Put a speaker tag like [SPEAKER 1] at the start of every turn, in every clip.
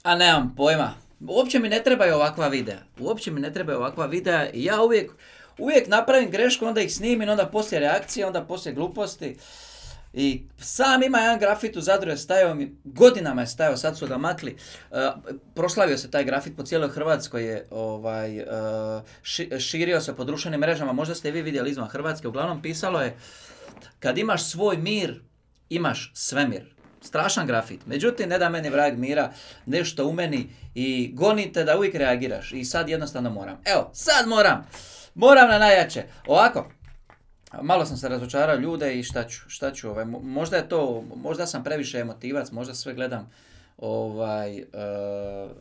[SPEAKER 1] A nemam pojma. Uopće mi ne trebaju ovakva videa. Uopće mi ne trebaju ovakva videa i ja uvijek napravim grešku, onda ih snimim, onda poslije reakcije, onda poslije gluposti. I sam ima jedan grafit u Zadru je stajao mi, godinama je stajao, sad su ga makli. Proslavio se taj grafit po cijeloj Hrvatskoj je širio se po društvenim mrežama, možda ste i vi vidjeli izvan Hrvatske, uglavnom pisalo je kad imaš svoj mir, imaš svemir. Strašan grafit. Međutim, ne da meni vrag mira, nešto u meni i gonite da uvijek reagiraš. I sad jednostavno moram. Evo, sad moram. Moram na najjače. Ovako. Malo sam se razočarao ljude i šta ću možda je to, možda sam previše emotivac, možda sve gledam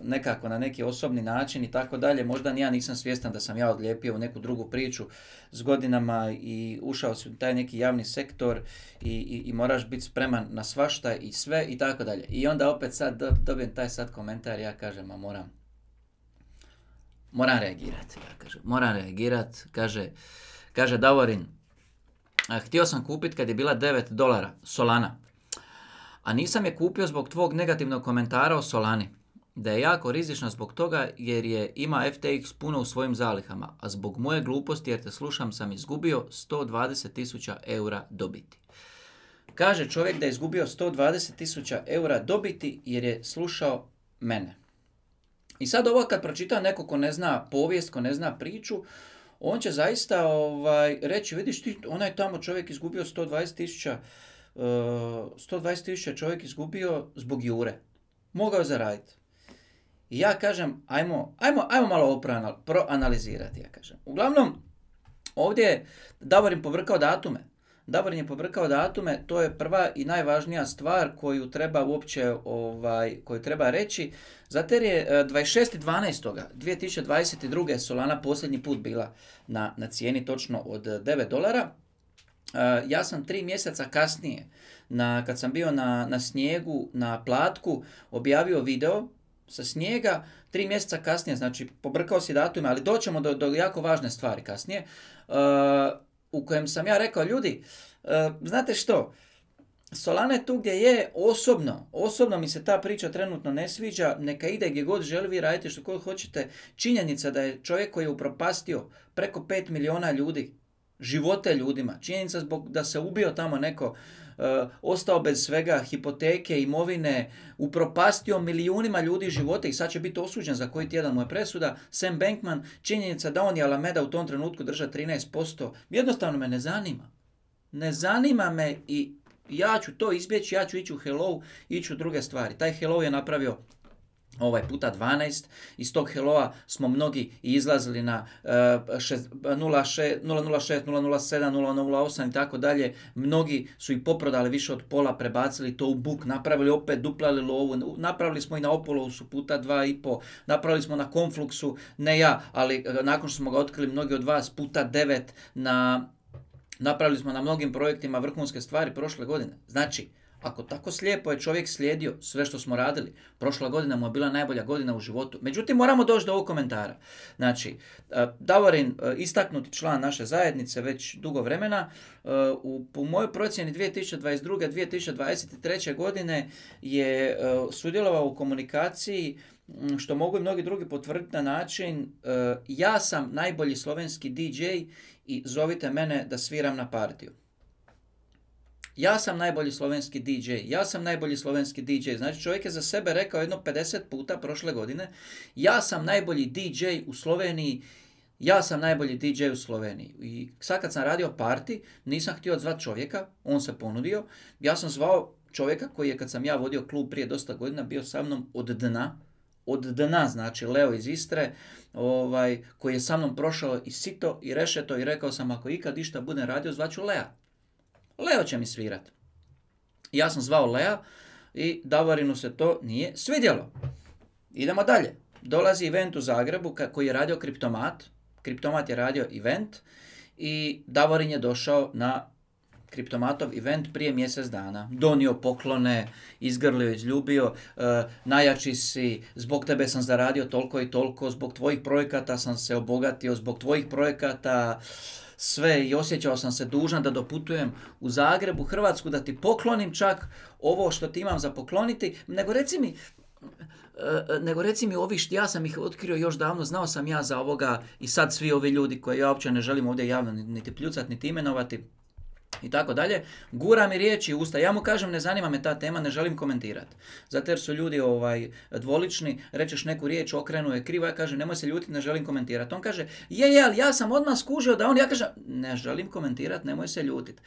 [SPEAKER 1] nekako na neki osobni način i tako dalje. Možda ni ja nisam svjestan da sam ja odlijepio u neku drugu priču s godinama i ušao si u taj neki javni sektor i moraš biti spreman na svašta i sve i tako dalje. I onda opet sad dobijem taj sad komentar, ja kažem, moram reagirati. Ja kažem, moram reagirati, kaže Davorin, htio sam kupiti kad je bila $9 Solana. A nisam je kupio zbog tvog negativnog komentara o Solani. Da je jako rizična zbog toga jer ima FTX puno u svojim zalihama, a zbog moje gluposti jer te slušam sam izgubio 120.000 eura dobiti. Kaže čovjek da je izgubio 120.000 eura dobiti jer je slušao mene. I sad ovo kad pročita neko ko ne zna povijest, ko ne zna priču, on će zaista reći, vidiš ti, onaj tamo čovjek izgubio 120.000 čovjek izgubio zbog Jure. Mogao je zaraditi. I ja kažem, ajmo malo ovo proanalizirati, ja kažem. Uglavnom, ovdje je Davorin pobrkao datume. Davorin je pobrkao datume, to je prva i najvažnija stvar koju treba uopće, koju treba reći. Zato jer je 26.12.2022. Solana posljednji put bila na cijeni točno od $9. Ja sam 3 mjeseca kasnije, kad sam bio na snijegu, na Platku, objavio video sa snijega, 3 mjeseca kasnije, znači pobrkao si datume, ali doćemo do jako važne stvari kasnije, u kojem sam ja rekao, ljudi, znate što, Solana je tu gdje je, osobno mi se ta priča trenutno ne sviđa, neka ide gdje god želi, vi radite što god hoćete. Činjenica da je čovjek koji je upropastio preko 5 milijuna ljudi, živote ljudima, činjenica zbog da se ubio tamo neko, ostao bez svega, hipoteke, imovine, upropastio milijunima ljudi živote i sad će biti osuđen za koji tjedan mu je presuda, Sam Bankman, činjenica da on i Alameda u tom trenutku drža 13%, jednostavno me ne zanima. Ne zanima me i ja ću to izbjeći, ja ću ići u Hello, ići u druge stvari. Taj Hello je napravio puta 12, iz tog Helloa smo mnogi izlazili na 006, 007, 008 i tako dalje. Mnogi su i poprodali više od pola, prebacili to u book, napravili opet, duplali lovu, napravili smo i na Opolousu puta 2,5, napravili smo na Confluxu, ne ja, ali nakon što smo ga otkrili mnogi od vas puta 9, napravili smo na mnogim projektima vrhunske stvari prošle godine. Znači, ako tako slijepo je čovjek slijedio sve što smo radili, prošla godina mu je bila najbolja godina u životu. Međutim, moramo doći do ovog komentara. Znači, Davorin, istaknuti član naše zajednice već dugo vremena, po mojoj procjeni 2022. 2023. godine je sudjelovao u komunikaciji, što mogu i mnogi drugi potvrditi na način, ja sam najbolji slovenski DJ i zovite mene da sviram na partiju. Ja sam najbolji slovenski DJ, Znači čovjek je za sebe rekao jedno 50 puta prošle godine, ja sam najbolji DJ u Sloveniji, I sad kad sam radio party, nisam htio zvati čovjeka, on se ponudio, ja sam zvao čovjeka koji je, kad sam ja vodio klub prije dosta godina, bio sa mnom od dna, znači Leo iz Istre, koji je sa mnom prošao i sito i rešeto i rekao sam, ako ikad išta budem radio, zvaću Lea. Leo će mi svirat. Ja sam zvao Lea i Davorinu se to nije svidjelo. Idemo dalje. Dolazi event u Zagrebu koji je radio Kriptomat. Kriptomat je radio event i Davorin je došao na Kriptomatov event prije mjesec dana. Donio poklone, izgrlio, izljubio, najjači si, zbog tebe sam zaradio toliko i toliko, zbog tvojih projekata sam se obogatio, zbog tvojih projekata sve i osjećao sam se dužan da doputujem u Zagreb, u Hrvatsku, da ti poklonim čak ovo što ti imam za pokloniti, nego reci mi, nego reci mi ovi ja sam ih otkrio još davno, znao sam ja za ovoga i sad svi ovi ljudi koje ja uopće ne želim ovdje javno niti pljucat, niti imenovati i tako dalje, gura mi riječi u usta. Ja mu kažem ne zanima me ta tema, ne želim komentirati. Zato jer su ljudi dvolični, rečeš neku riječ, okrenu je krivo, ja kažem nemoj se ljutiti, ne želim komentirati. On kaže ali ja sam odmah skužio da on, ja kažem ne želim komentirati, nemoj se ljutiti.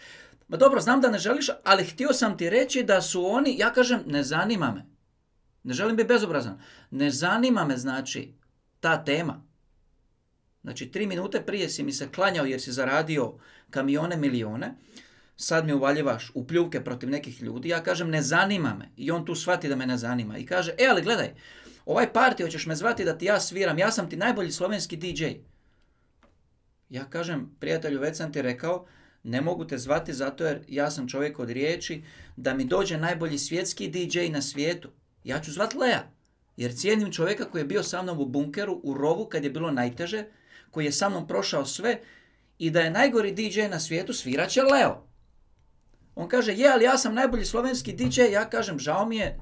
[SPEAKER 1] Ma dobro, znam da ne želiš, ali htio sam ti reći da su oni, ja kažem ne zanima me. Ne želim biti bezobrazan. Ne zanima me znači ta tema. Znači 3 minute prije si mi se klanjao jer si zaradio kamione, milione, sad mi uvaljivaš u pljuvke protiv nekih ljudi, ja kažem ne zanima me i on tu shvati da me ne zanima i kaže ali gledaj, ovaj party hoćeš me zvati da ti ja sviram, ja sam ti najbolji slovenski DJ. Ja kažem prijatelju već sam ti rekao, ne mogu te zvati zato jer ja sam čovjek od riječi, da mi dođe najbolji svjetski DJ na svijetu. Ja ću zvat Lea, jer cijenim čovjeka koji je bio sa mnom u bunkeru, u rovu kad je bilo najteže, koji je sa mnom prošao sve i da je najgori DJ na svijetu svirat će Leo. On kaže, ali ja sam najbolji slovenski DJ, ja kažem, žao mi je,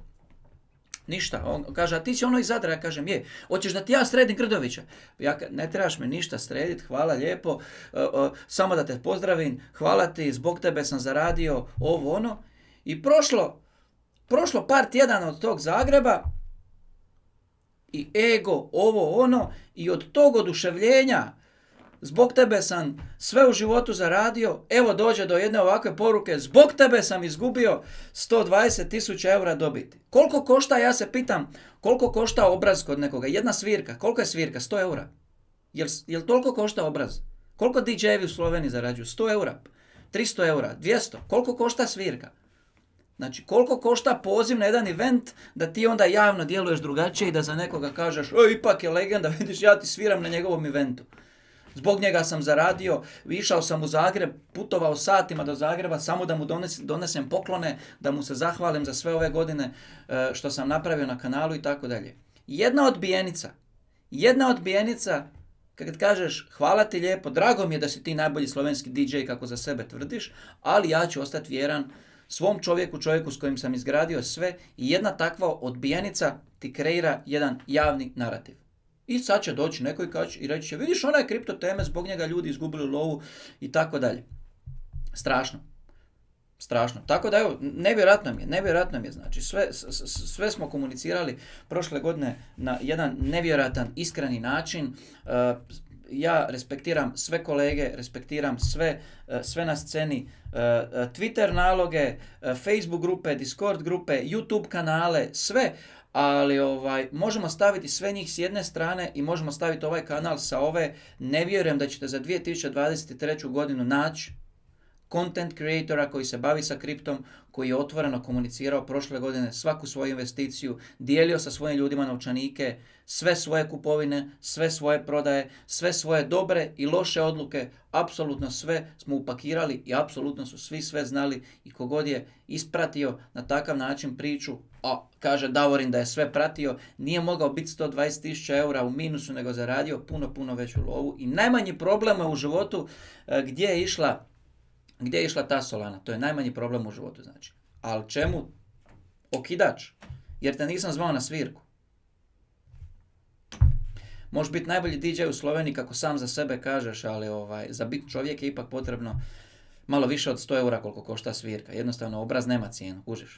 [SPEAKER 1] ništa. On kaže, a ti si ono iz Zadra, ja kažem, hoćeš da ti ja sredim Grdovića? Ne trebaš me ništa srediti, hvala lijepo, samo da te pozdravim, hvala ti, zbog tebe sam zaradio ovo ono. I prošlo par tjedana od tog Zagreba i ego, ovo ono, i od tog oduševljenja, zbog tebe sam sve u životu zaradio, evo dođe do jedne ovakve poruke, zbog tebe sam izgubio 120.000 eura dobiti. Koliko košta, ja se pitam, koliko košta obraz kod nekoga? Jedna svirka, koliko je svirka? 100 eura. Jel toliko košta obraz? Koliko DJ-evi u Sloveniji zarađuju? 100 eura, 300 eura, 200. Koliko košta svirka? Znači, koliko košta poziv na jedan event da ti onda javno djeluješ drugačije i da za nekoga kažeš, ipak je legenda, vidiš, ja ti sviram na njegovom eventu. Zbog njega sam zaradio, išao sam u Zagreb, putovao satima do Zagreba samo da mu donesem poklone, da mu se zahvalim za sve ove godine što sam napravio na kanalu i tako dalje. Jedna odbijenica, kad kažeš hvala ti lijepo, drago mi je da si ti najbolji slovenski DJ kako za sebe tvrdiš, ali ja ću ostati vjeran svom čovjeku s kojim sam izgradio sve i jedna takva odbijenica ti kreira jedan javni narativ. I sad će doći neko i reći će, vidiš ona je kripto teme, zbog njega ljudi izgubili lovu i tako dalje. Strašno. Tako da evo, nevjerojatno mi je, znači sve smo komunicirali prošle godine na jedan nevjerojatan, iskreni način. Ja respektiram sve kolege, respektiram sve na sceni, Twitter naloge, Facebook grupe, Discord grupe, YouTube kanale, sve, ali možemo staviti sve njih s jedne strane i možemo staviti ovaj kanal sa ove. Ne vjerujem da ćete za 2023. godinu naći content creatora koji se bavi sa kriptom, koji je otvoreno komunicirao prošle godine svaku svoju investiciju, dijelio sa svojim ljudima novčanike, sve svoje kupovine, sve svoje prodaje, sve svoje dobre i loše odluke, apsolutno sve smo upakirali i apsolutno su svi sve znali i kogod je ispratio na takav način priču, a kaže Davorin da je sve pratio, nije mogao biti 120.000 eura u minusu, nego zaradio puno veću lovu i najmanji problem u životu gdje je išla ta Solana. To je najmanji problem u životu, znači. Ali čemu? Okidač. Jer te nisam zvao na svirku. Možeš biti najbolji DJ u Sloveniji kako sam za sebe kažeš, ali za biti čovjek je ipak potrebno malo više od 100 eura koliko košta svirka. Jednostavno obraz nema cijenu, kužiš.